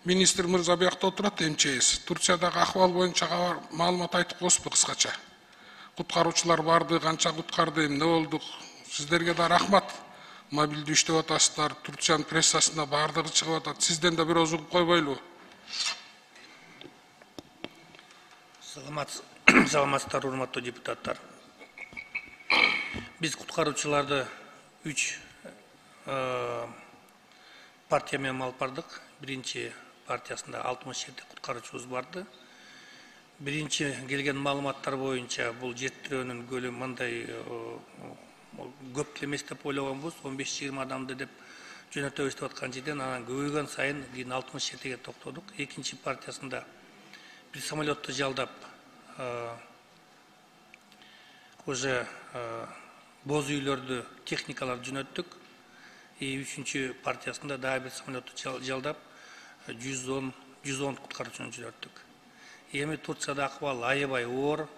Министр мырза биякта отурат, МЧС. Турциядагы акыбал боюнча маалымат айтып коесузбу кыскача? Куткаруучулар барды, канча куткарды, эмне болдук? Сиздерге да рахмат. Мобилдүү иштеп атасыздар, Турциянын прессасына бардыгы чыгып атат. Сизден да бир ооз угуп койбойлубу? Саламатсыздар, урматтуу депутаттар. Биз куткаруучуларды 3 партия менен алып бардык. Биринчи партиясында 67 куткаруучубуз барды. Биринчи келген маалыматтар боюнча бул жертирөөнүн көлөмү мындай көп эмес деп ойлогонбуз, 15-20 адамды деп жөнөтөбүз деп аткан жерден анан көбөйгөн сайын кийин 67-ге токтодук. Экинчи партиясында bir самолетту жалдап уже боз үйлөрдү техникалар жөнөттүк. Үчүнчү партиясында дагы бир самолетту жалдап 110 куткаруучуну жөнөттүк. Эми Турцияда акыбал аябай оор.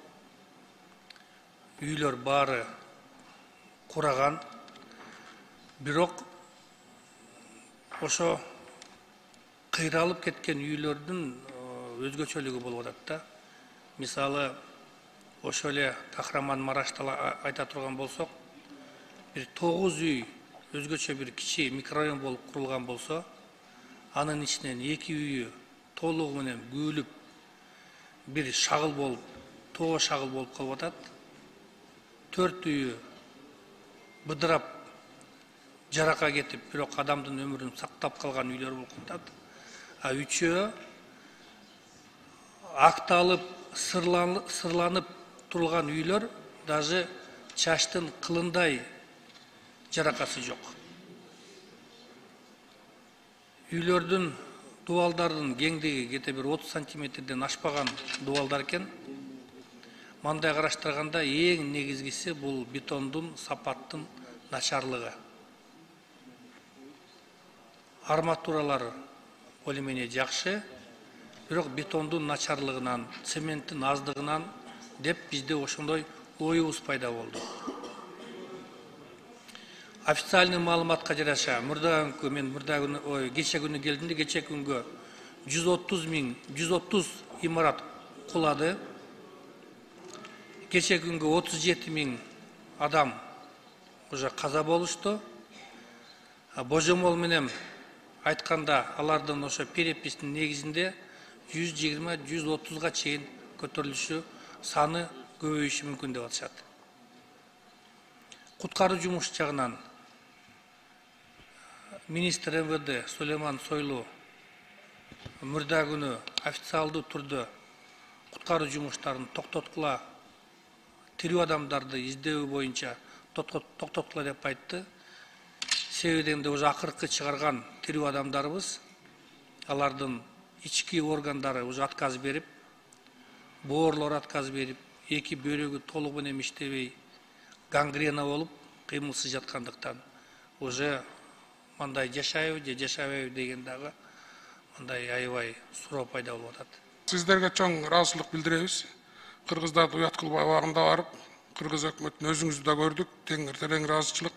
Үйлөр баары кураган. Бирок ошо кыйралып кеткен үйлөрдүн өзгөчөлүгү болуп атат да. Мисалы, ошо эле Кахраман-Марашта айта турган болсок, бир 9 үй өзгөчө бир кичи микрорайон болуп курулган болсо, анын ичинен 2 үйү толугу менен күүлүп, бир шагыл болуп, тоо шагыл болуп калып атат. 4 үйү быдырап, жарака кетип, бирок адамдын өмүрүн сактап калган үйлөр болуп атат. А 3-өө акталып, сырланып турган үйлөр, даже чачтын кылындай жаракасы жок. Үйлөрдүн дубалдардын кеңдиги кете бир 30 сантиметрден ашпаган дубалдар экен. Мындай караштырганда эң негизгиси бул бетондун сапаттын начарлыгы. Арматуралар более-менее жакшы, бирок бетондун начарлыгынан, цементтин аздыгынан деп бизде ошондой оюбуз пайда болду. Официальный маалыматка жараша кече күнү келдимде, кече күнгө 130 имарат кулады. Кече күнгө 37 000 адам уже каза болушту. Божомол менен айтканда, алардын ошо перепистин негизинде 120-130га чейин көтөрүлүшү, саны көбөйүшү мүмкүн деп атышат. Куткаруу жумуш жагынан министр МВД Сулейман Сойлу мурда күнү официалдуу түрдө куткаруу жумуштарын токтоткула, тирүү адамдарды издөө боюнча токтоткула деп айтты. Себебинде уже акыркы чыгарган тирүү адамдарыбыз, алардын ички органдары уже отказ берип, боорлор отказ берип, эки бөйрөгү толугу менен иштебей, гангрена болуп, кыймылсыз жаткандыктан уже мындай жашайбы же жашабайбы деген дагы мындай аябай суроо пайда болуп атат. Сиздерге чоң ыраазычылык билдиребиз. Кыргыздарды уят кылбай убагында барып, кыргыз өкмөтүн өзүңүздү да көрдүк, тең ыраазычылык.